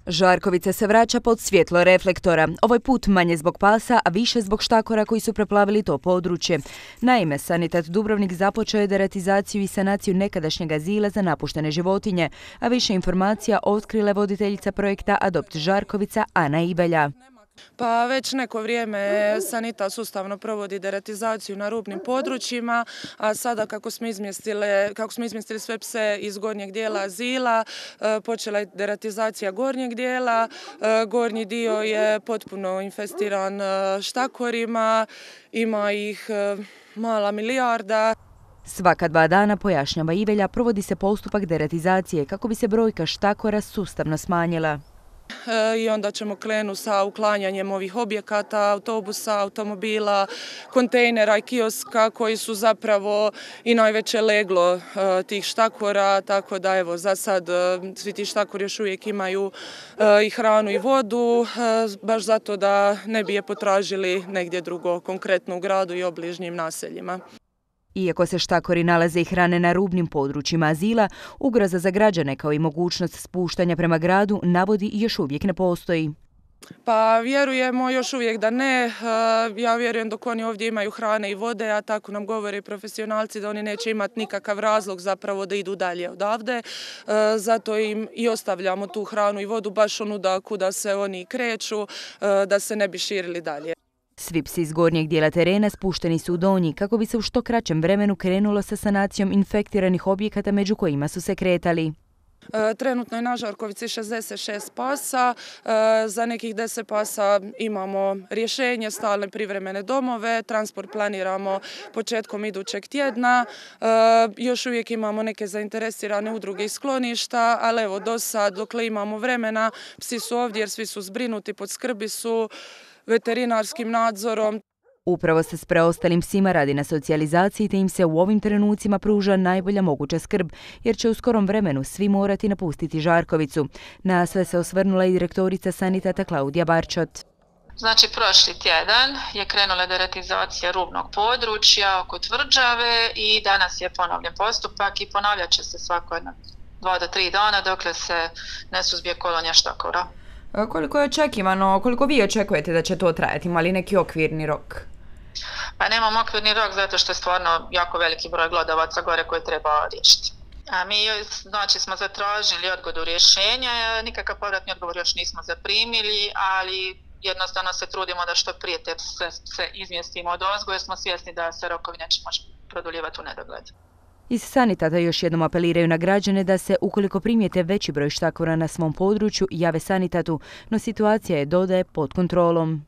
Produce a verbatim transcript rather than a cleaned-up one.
Žarkovica se vraća pod svjetlo reflektora. Ovaj put manje zbog pasa, a više zbog štakora koji su preplavili to područje. Naime, Sanitat Dubrovnik započeo je deratizaciju i sanaciju nekadašnjeg azila za napuštene životinje, a više informacija otkrile voditeljica projekta Adopt Žarkovica Ana Ibelja. Pa već neko vrijeme Sanitat sustavno provodi deratizaciju na rubnim područjima, a sada kako smo izmjestili, kako smo izmjestili sve pse iz gornjeg dijela azila, počela je deratizacija gornjeg dijela. Gornji dio je potpuno infestiran štakorima, ima ih mala milijarda. Svaka dva dana, pojašnjava Ibelja, provodi se postupak deratizacije kako bi se brojka štakora sustavno smanjila. I onda ćemo krenuti sa uklanjanjem ovih objekata, autobusa, automobila, kontejnera i kioska koji su zapravo i najveće leglo tih štakora, tako da evo za sad svi ti štakori još uvijek imaju i hranu i vodu, baš zato da ne bi je potražili negdje drugo, konkretno u gradu i obližnjim naseljima. Iako se štakori nalaze i hrane na rubnim područjima azila, ugroza za građane kao i mogućnost spuštanja prema gradu navodi još uvijek ne postoji. Pa vjerujemo još uvijek da ne. Ja vjerujem dok oni ovdje imaju hrane i vode, a tako nam govore profesionalci da oni neće imati nikakav razlog zapravo da idu dalje odavde. Zato im i ostavljamo tu hranu i vodu baš onuda kuda se oni kreću, da se ne bi širili dalje. Svi psi iz gornjeg dijela terena spušteni su u donji kako bi se u što kraćem vremenu krenulo sa sanacijom infektiranih objekata među kojima su se kretali. Trenutno je na Žarkovici šezdeset šest pasa, za nekih deset pasa imamo rješenje, stalne privremene domove, transport planiramo početkom idućeg tjedna, još uvijek imamo neke zainteresirane udruge i skloništa, ali evo do sad dokle imamo vremena, psi su ovdje jer svi su zbrinuti, pod skrbi su, veterinarskim nadzorom. Upravo se s preostalim psima radi na socijalizaciji te im se u ovim trenucima pruža najbolja moguća skrb, jer će u skorom vremenu svi morati napustiti Žarkovicu. Na sve se osvrnula i direktorica Sanitata Klaudija Barčot. Znači, prošli tjedan je krenula deratizacija rubnog područja oko Tvrđave i danas je ponovljen postupak i ponavljat će se svako jedno dva do tri dana dokle se ne suzbije kolonija štakora. Koliko je očekivano, koliko vi očekujete da će to trajati, ima li neki okvirni rok? Pa nemam okvirni rok zato što je stvarno jako veliki broj glodavaca gore koje treba riješiti. A mi znači smo zatražili odgodu rješenja, nikakav povratni odgovor još nismo zaprimili, ali jednostavno se trudimo da što prije te se, se izmjestimo od ozgo jer smo svjesni da se rokovi neće moći produljivati u nedogled. Iz Sanitata još jednom apeliraju na građane da se, ukoliko primijete veći broj štakora na svom području, jave Sanitatu, no situacija je, dodaje, pod kontrolom.